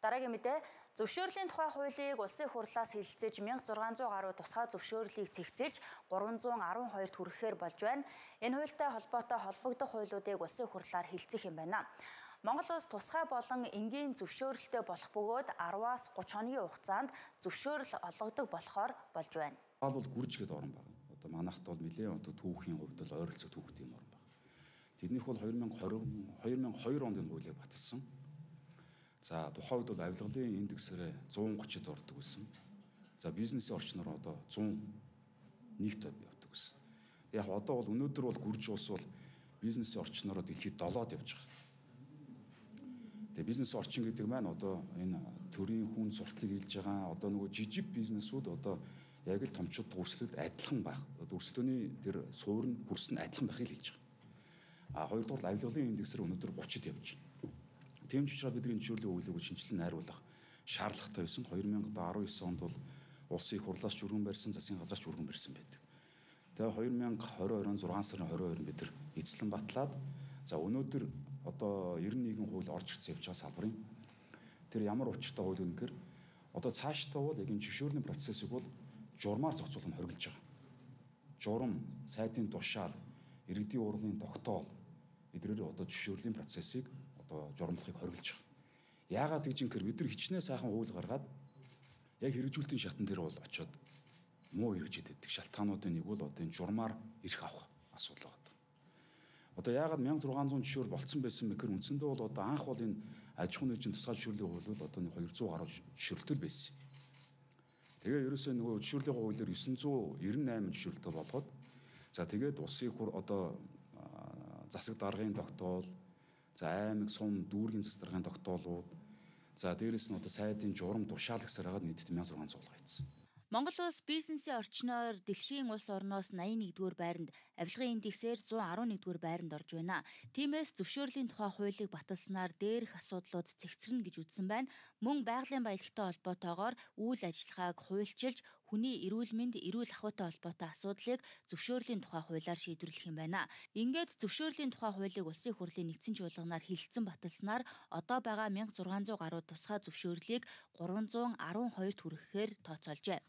Дараагийн мэдээ зөвшөөрлийн тухай хуулийг улсын хурлаас хэлэлцэж 1600 гаруй тусгай зөвшөөрлийг цэгцэлж 312 хүрэхээр болж байна. Энэ хуультай холбоотой холбогдох хуулиудыг улсын хурлаар хэлцэх юм байна. Монгол улс тусгай болон энгийн зөвшөөрөлтэй болох бөгөөд 10-аас 30 хоногийн хугацаанд зөвшөөрөл олгодог болохоор болж байна. Бол гүрж гэдэг орн байна. Одоо манайхд бол нэлээд түүхийн хувьд бол ойролцоо түүхтэй юм орн байна. Тэднийх бол 2002 онд энэ хуулийг баталсан. За тухайн үед бол авилгалын индексээр 130-д ордог байсан. За бизнесийн орчноор одоо 101-т явдаг байсан. Яг одоо бол өнөөдөр бол гүрж улс бол бизнесийн орчноор дэлхийд 7-д явж байгаа. Тэгээ бизнес орчин гэдэг маань одоо энэ төрийн хүн сурталыг хийж байгаа одоо нөгөө жижиг бизнесүүд одоо яг л томчууд өрсөлдөлд адилхан байх. Өрсөлдөөний тэр суурь нь хөрс нь адилхан байхыг хэлж байгаа. Хоёрдугаар авилгалын индексээр өнөөдөр 30-д явж байна. Тийм ч учраас бидний зөвшөөрлийн хуулийг шинжилэн найруулах шаардлагатай байсан. 2019 онд бол улсын их хурлаас ч өргөн барьсан, засгийн газраас ч өргөн барьсан байдаг. Тэгээ 2022 он 6 сарын 22-нд бид нар эзлэн батлаад за өнөөдөр одоо 91 хууль орж ирсэн явж байгаа салбарын тэр ямар учиртай хууль вэ гэхээр одоо цаашдаа бол яг энэ зөвшөөрлийн процессыг бол журмаар зохицуулах нь хориглож байгаа. Журам, сайтын тушаал, иргэдийн урлын тогтоол эдгээр одоо зөвшөөрлийн процессыг одоо журамлахыг хориглож байгаа. Яагаад гэж ингэхээр бид нар хичнээн сайхан хууль гаргаад яг хэрэгжүүлэлтийн шатан дээр бол очиод муу хэрэгжээд байдаг. Шалтгаануудын нэг бол одоо энэ журмаар ирэх авах асуудал байна. Одоо яагаад 1600 зөвшөөр болцсон байсан бэ гэхээр үндсэндээ бол одоо анх бол энэ аж ахуйн нэгжийн тусгай зөвшөөрлийн хууль бол одоо 200 гаруй зөвшөөрлөлтөл байсан. Тэгээ ерөөсөө нөгөө зөвшөөрлийн хуулиар 998 зөвшөөрлөлтөө болгоод за тэгээд улсын хур одоо засаг даргын тогтоол, за аймаг сум дүүргийн засаг даргын тогтоолууд, за дээрэс нь одоо сайдын журам тушаал гэсээр хагаад нийтдээ 1600 суулгацсан. Монгол улс бизнесийн орчноор дэлхийн улс орноос 81-р байранд, авилгын индексээр 111-р байранд орж байна. Тиймээс зөвшөөрлийн тухай хуулийг баталснаар дээрх асуудлууд цэгцэрнэ гэж үзсэн байна. Мөн байгалийн баялагтай холбоотойгоор үйл ажиллагааг хуульчилж, хүний эрүүл мэнд, эрүүл ахуйтай холбоотой асуудлыг зөвшөөрлийн тухай хуулиар шийдвэрлэх юм байна. Ингээд зөвшөөрлийн тухай хуулийг улсын хурлын нэгдсэн чуулганаар хэлэлцэн баталснаар одоо байгаа 1600 гаруй тусгай зөвшөөрлийг 312 хүрэхээр тооцоолжээ.